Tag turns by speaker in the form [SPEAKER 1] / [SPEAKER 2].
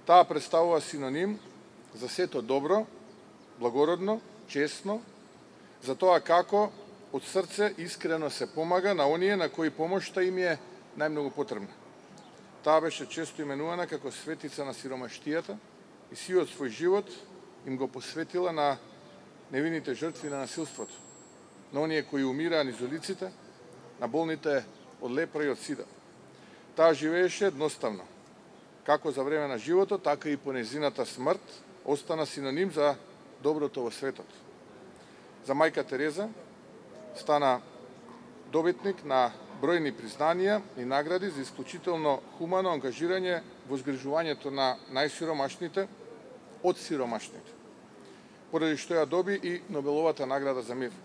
[SPEAKER 1] Таа представува синоним за сето добро, благородно, честно, за тоа како од срце искрено се помага на оние на кои помошта им е најмногу потребна. Таа беше често именувана како светица на сиромаштијата и сиот свој живот им го посветила на невините жртви на насилството, на оние кои умираа низ улиците, на болните од лепра и од сида. Таа живееше едноставно, како за време на животот, така и по незината смрт остана синоним за доброто во светот. За мајка Тереза стана добитник на бројни признанија и награди за исклучително хумано ангажирање во згрижувањето на најсиромашните од сиромашните, поради што ја доби и Нобеловата награда за мир.